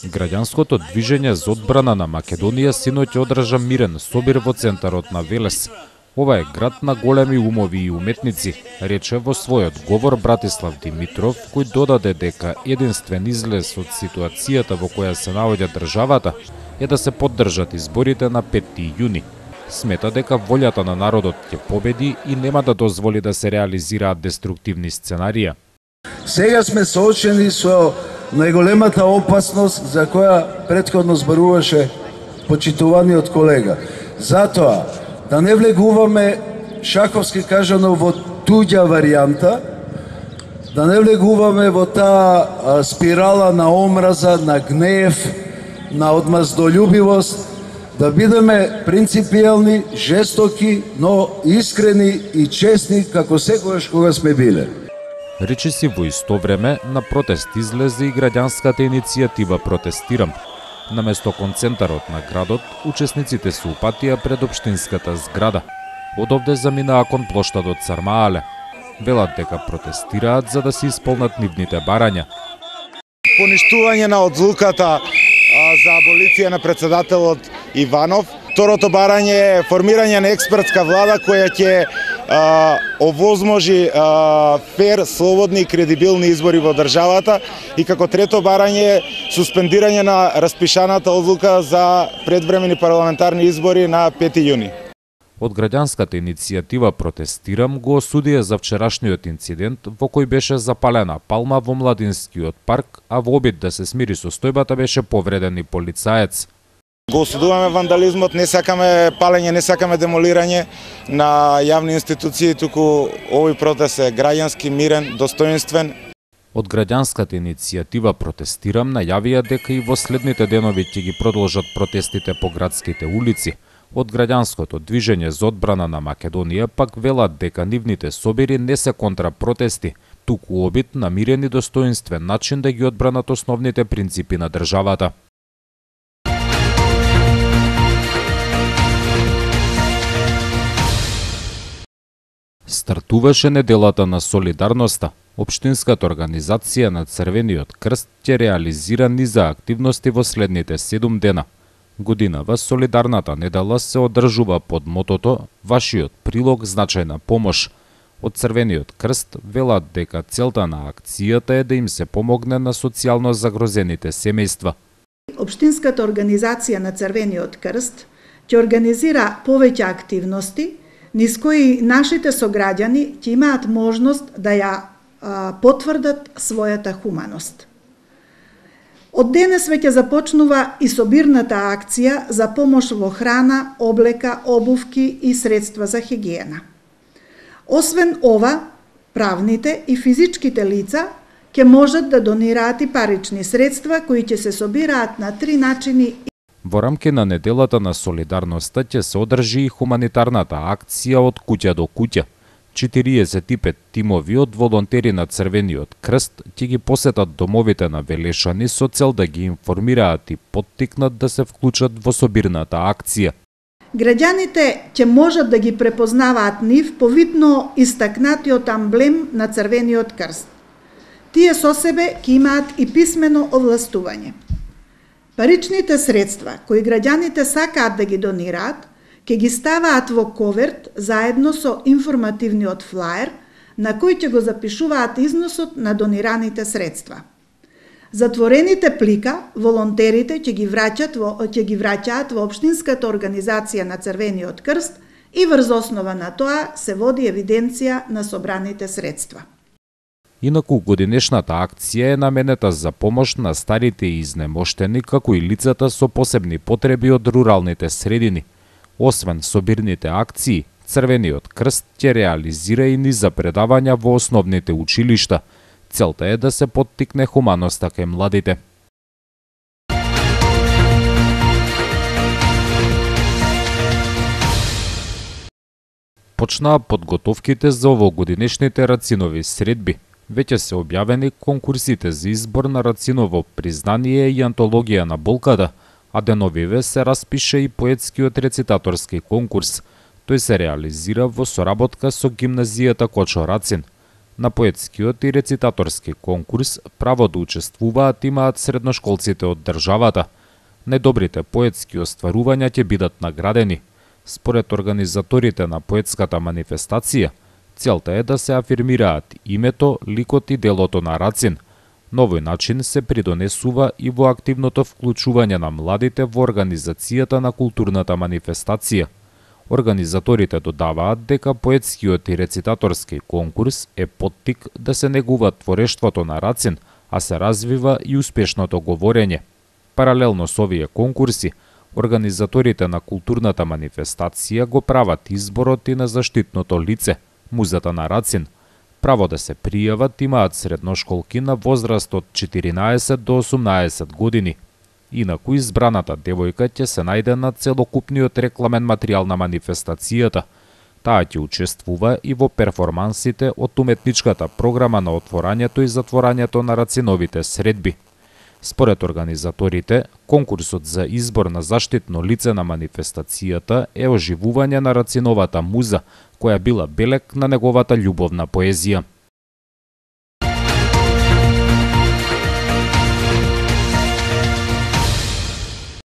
Граѓанското движење за одбрана на Македонија синоќ одржа мирен собир во центарот на Велес. Ова е град на големи умови и уметници, рече во својот говор Братислав Димитров, кој додаде дека единствен излез од ситуацијата во која се наоѓа државата е да се поддржат изборите на 5 јуни. Смета дека волјата на народот ќе победи и нема да дозволи да се реализираат деструктивни сценарија. Сега сме соочени со најголемата опасност за која претходно зборуваше почитуваниот колега. Затоа, да не влегуваме, шаковски кажано, во туѓа варијанта, да не влегуваме во таа спирала на омраза, на гнев, на одмаздолюбивост, да бидеме принципијални, жестоки, но искрени и честни како секогаш кога сме биле. Речи си во исто време на протест излезе и граѓанската иницијатива Протестирам. Наместо концентарот на градот, учесниците се упатија пред општинската зграда. Одовде заминаа кон плоштадот Сармаале. Велат дека протестираат за да се исполнат нивните барања. Поништување на одлуката за аболиција на председателот Иванов. Второто барање е формирање на експертска влада која ќе овозможи фер, слободни и кредибилни избори во државата, и како трето барање е суспендирање на распишаната одлука за предвремени парламентарни избори на 5 јуни. Од граѓанската иницијатива Протестирам го осудија за вчерашниот инцидент во кој беше запалена палма во Младинскиот парк, а во обид да се смири состојбата беше повреден и полицаец. Го осудуваме вандализмот, не сакаме палење, не сакаме демолирање на јавни институции, туку овој протест е граѓански, мирен, достоинствен. Од граѓанската иницијатива Протестирам најавија дека и во следните денови ќе ги продолжат протестите по градските улици. Од граѓанското движење за одбрана на Македонија пак велат дека нивните собери не се контрапротести, туку обид на мирен и достоинствен начин да ги одбранат основните принципи на државата. Стартуваше неделата на солидарноста. Општинската организација на Црвениот крст ќе реализира низа активности во следните 7 дена. Годинава солидарната недела се одржува под мотото "Вашиот прилог значајна помош". Од Црвениот крст велат дека целта на акцијата е да им се помогне на социјално загрозените семејства. Општинската организација на Црвениот крст ќе организира повеќе активности низ кои нашите сограѓани ќе имаат можност да ја потврдат својата хуманост. Од денес веќе започнува и собирната акција за помош во храна, облека, обувки и средства за хигиена. Освен ова, правните и физичките лица ќе можат да донираат и парични средства кои ќе се собираат на 3 начини. Во рамки на неделата на солидарноста ќе се одржи и хуманитарната акција од куќа до куќа. 45 тимови од волонтери на Црвениот крст ќе ги посетат домовите на Велешани со цел да ги информираат и поттикнат да се вклучат во собирната акција. Граѓаните ќе можат да ги препознаваат нив по видно истакнатиот амблем на Црвениот крст. Тие со себе ќе имаат и писмено овластување. Паричните средства кои граѓаните сакаат да ги донираат, ќе ги ставаат во коверт заедно со информативниот флаер на кој ќе го запишуваат износот на донираните средства. Затворените плика волонтерите ќе ги враќаат во општинската организација на Црвениот крст и врз основа на тоа се води евиденција на собраните средства. Инаку годинешната акција е наменета за помош на старите и изнемоштени, како и лицата со посебни потреби од руралните средини. Освен собирните акции, Црвениот крст ќе реализира и низа предавања во основните училишта. Целта е да се поттикне хуманоста кај младите. Почнаа подготовките за овогодинешните рацинови средби. Веќе се објавени конкурсите за избор на рациново признание и антологија на болката, а деновиве се распише и поетскиот рецитаторски конкурс. Тој се реализира во соработка со гимназијата Кочо Рацин. На поетскиот и рецитаторски конкурс право да учествуваат имаат средношколците од државата. Најдобрите поетски остварувања ќе бидат наградени. Според организаторите на поетската манифестација, целта е да се афирмираат името, ликот и делото на Рацин. На овој начин се придонесува и во активното вклучување на младите во организацијата на културната манифестација. Организаторите додаваат дека поетскиот и рецитаторски конкурс е поттик да се негува творештвото на Рацин, а се развива и успешното говорење. Паралелно со овие конкурси, организаторите на културната манифестација го прават изборот и на заштитното лице, музата на Рацин. Право да се пријават имаат средношколки на возраст од 14 до 18 години. Инаку избраната девојка ќе се најде на целокупниот рекламен материјал на манифестацијата. Таа ќе учествува и во перформансите од уметничката програма на отворањето и затворањето на Рациновите средби. Според организаторите, конкурсот за избор на заштитно лице на манифестацијата е оживување на Рациновата муза, која била белег на неговата љубовна поезија.